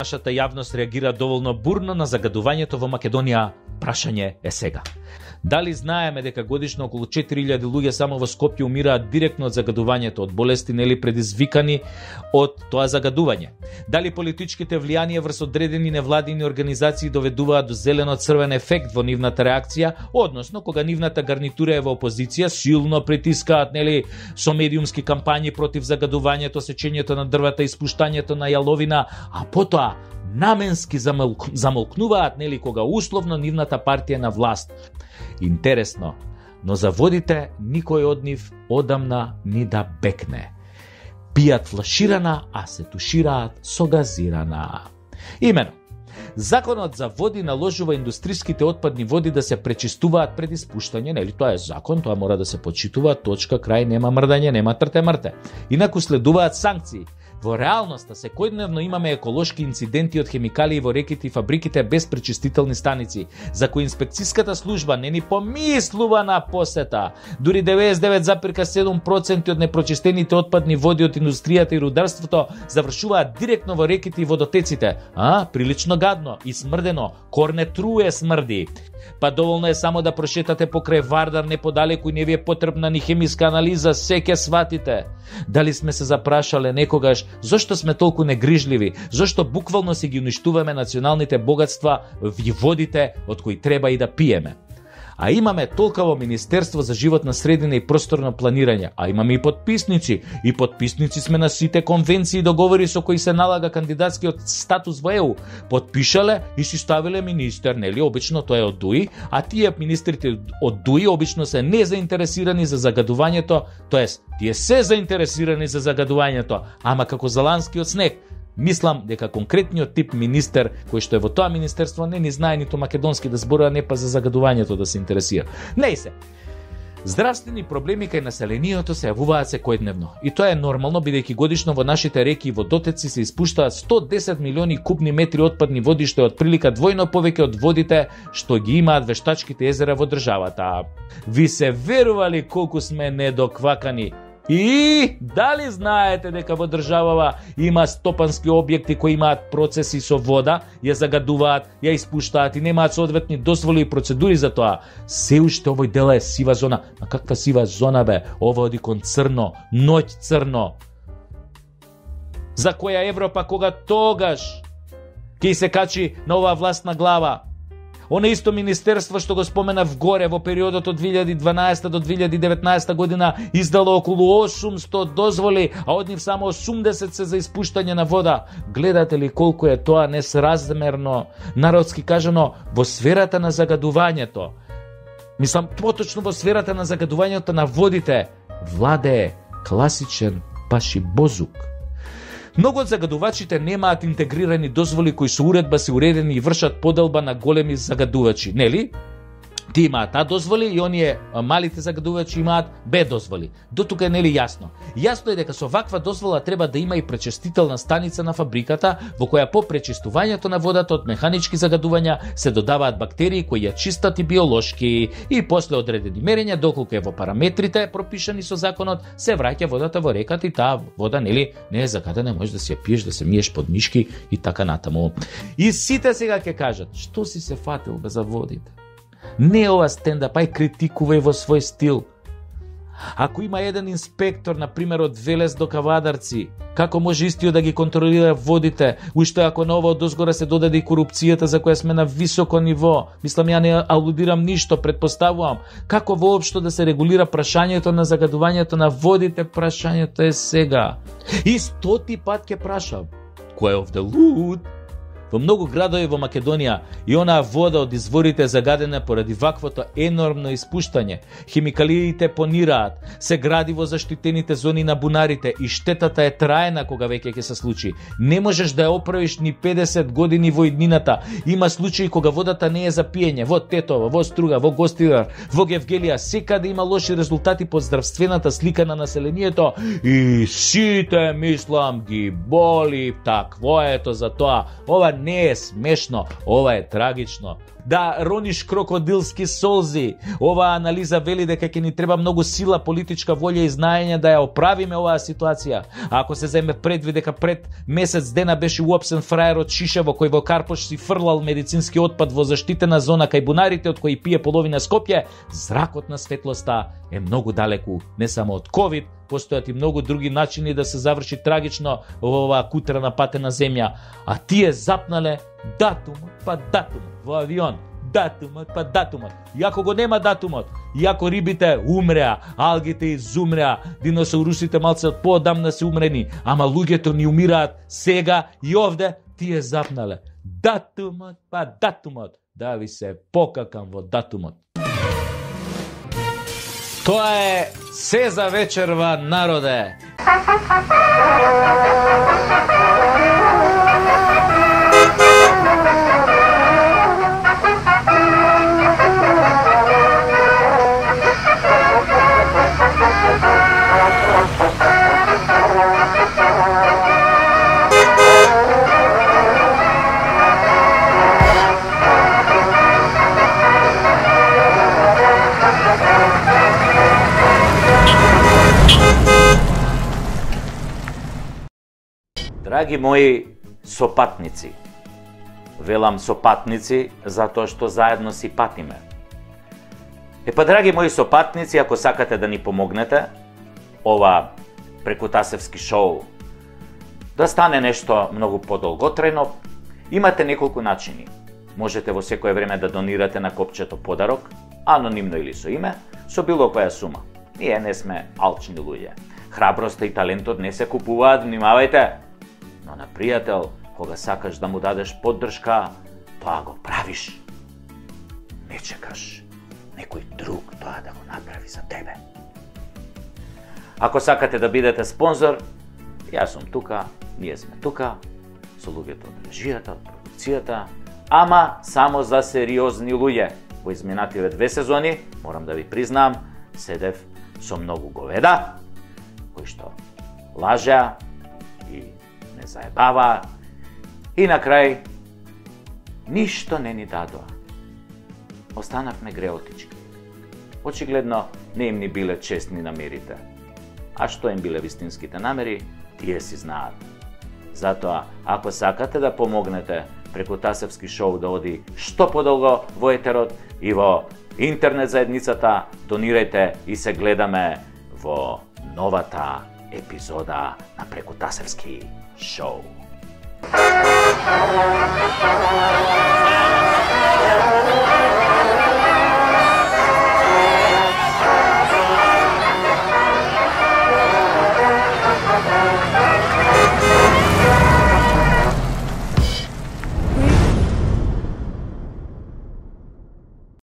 Нашата јавност реагира доволно бурно на загадувањето во Македонија. Прашање е сега. Дали знаеме дека годишно околу 4000 луѓе само во Скопје умираат директно од загадувањето, од болести нели предизвикани од тоа загадување? Дали политичките влијанија врз одредени невладини организации доведуваат до зелено-црвен ефект во нивната реакција, односно кога нивната гарнитура е во опозиција, силно притискаат нели со медиумски кампањи против загадувањето, сечењето на дрвата, испуштањето на јаловина, а потоа наменски замолкнуваат нели кога условно нивната партија на власт. Интересно, но за водите никој од нив одамна ни да бекне. Пијат флаширана, а се тушираат со газирана. Имено, законот за води наложува индустриските отпадни води да се пречистуваат пред испуштање, нели тоа е закон, тоа мора да се почитува, точка, крај, нема мрдање, нема трте-мрте. Инаку следуваат санкции. Во реалноста секојдневно имаме еколошки инциденти од хемикалии во реките и фабриките без пречистителни станици, за кои инспекцијската служба не ни помислува на посета. Дури 99,7% од непрочистените отпадни води од индустријата и рударството завршуваат директно во реките и водотеците. Прилично гадно и смрдено, корне труе смрди. Па доволно е само да прошетате покрај Вардар неподалеку и не ви е потребна ни хемиска анализа, се ќе сватите. Дали сме се запрашале некогаш зошто сме толку негрижливи, зошто буквално си ги уништуваме националните богатства и водите од кои треба и да пиеме. А имаме толкаво Министерство за животна средина и просторно планирање, а имаме и подписници. И подписници сме на сите конвенции и договори со кои се налага кандидатскиот статус во ЕУ. Подпишале и си ставиле министер, нели? Обично тоа е од ДУИ, а тие министрите од ДУИ обично се незаинтересирани за загадувањето, тоест тие се заинтересирани за загадувањето, ама како заланскиот снег. Мислам дека конкретниот тип министер кој што е во тоа министерство не ни знае ниту македонски да зборува, не па за загадувањето да се интересира. Не се. Здравствени проблеми кај населението се јавуваат секојдневно. И тоа е нормално, бидејќи годишно во нашите реки и водотеци се испуштаат 110 милиони кубни метри отпадни води, што е отприлика двојно повеќе од водите што ги имаат вештачките езера во државата. Ви се верували колку сме недоквакани? И дали знаете дека во државава има стопански објекти кои имаат процеси со вода, ја загадуваат, ја испуштаат и немаат соодветни дозволи и процедури за тоа? Се уште овој дел е сива зона. А каква сива зона бе? Ова оди кон црно, ноќ црно. За која Европа кога тогаш ќе се качи на оваа властна глава? Оно исто министерство што го спомена вгоре во периодот од 2012 до 2019 година издало околу 800 дозволи, а од нив само 80 се за испуштање на вода. Гледате ли колку е тоа несразмерно, народски кажано, во сферата на загадувањето? Мислам, поточно во сферата на загадувањето на водите владее класичен пашибозук. Многу од загадувачите немаат интегрирани дозволи кои со уредба се уредени и вршат поделба на големи загадувачи, нели? Ти имаат А дозволи и оние малите загадувачи имаат Б дозволи. До тука е нели јасно? Јасно е дека со ваква дозвола треба да има и пречистителна станица на фабриката во која по пречистувањето на водата од механички загадувања се додаваат бактерии кои ја чистат и биолошки и после одредени мерења доколку е во параметрите пропишани со законот се враќа водата во реката и таа вода нели не е загадена, можеш да си ја пиеш, да се миеш под мишки и така натаму. И сите сега ќе кажат, што си се фатил бе за водите? Не ова стендап, ај критикувај во свој стил. Ако има еден инспектор, например, од Велес до Кавадарци, како може истиот да ги контролира водите, уште ако на ова одозгора се додаде и корупцијата за која сме на високо ниво? Мислам, ја не алудирам ништо, предпоставувам. Како воопшто да се регулира прашањето на загадувањето на водите? Прашањето е сега. И 100 пат ќе прашам. Кој е овде луд? Во многу градови во Македонија и онаа вода од изворите загадена поради ваквото енормно испуштање. Химикалиите понираат, се гради во заштитените зони на бунарите и штетата е траена кога веќе ќе се случи. Не можеш да ја оправиш ни 50 години во иднината. Има случаи кога водата не е за пиење. Во Тетово, во Струга, во Гостидар, во Гевгелија, секаде има лоши резултати по здравствената слика на населението и сите мислам ги боли. Такво ето за тоа. Ова не е смешно, ова е трагично. Да рониш крокодилски солзи. Оваа анализа вели дека ќе ни треба многу сила, политичка волја и знаење да ја оправиме оваа ситуација. Ако се земе предвид дека пред месец дена беше уапсен фраер од Шишево кој во Карпош си фрлал медицински отпад во заштитена зона кај бунарите од кој пие половина Скопје, зракот на светлоста е многу далеку, не само од ковид, постојат и многу други начини да се заврши трагично во оваа кутрана патена земја, а тие запнале датумот па датумот во авион, датумот па датумот. Иако го нема датумот, иако рибите умреа, алгите изумреа, диносаурусите малце поодамна се умрени, ама луѓето ни умираат сега и овде, тие запнале датумот па датумот. Да ви се покакам во датумот. Тоа е се за вечерва, народе. Драги мои сопатници, велам сопатници затоа што заедно си патиме. Драги мои сопатници, ако сакате да ни помогнете, ова прекутасевски шоу да стане нешто многу подолготрајно, имате неколку начини. Можете во секое време да донирате на копчето подарок, анонимно или со име, со било која сума. Ние не сме алчни луѓе. Храброста и талентот не се купуваат, внимавајте. Но на пријател, кога сакаш да му дадеш поддршка, тоа го правиш. Не чекаш некој друг тоа да го направи за тебе. Ако сакате да бидете спонзор, јас сум тука, ние сме тука, со луѓето од режијата, од продукцијата, ама само за сериозни луѓе. Во изминативе 2 сезони, морам да ви признам, седев со многу говеда, кои што лажеа и не заебава и на крај ништо не ни дадоа. Останавме греотички. Очигледно не им ни биле честни намерите. А што им биле вистинските намери, тие си знаат. Затоа, ако сакате да помогнете Прекутасевски шоу да оди што подолго во етерот и во интернет заедницата, донирајте и се гледаме во новата епизода на Прекутасевски шоу.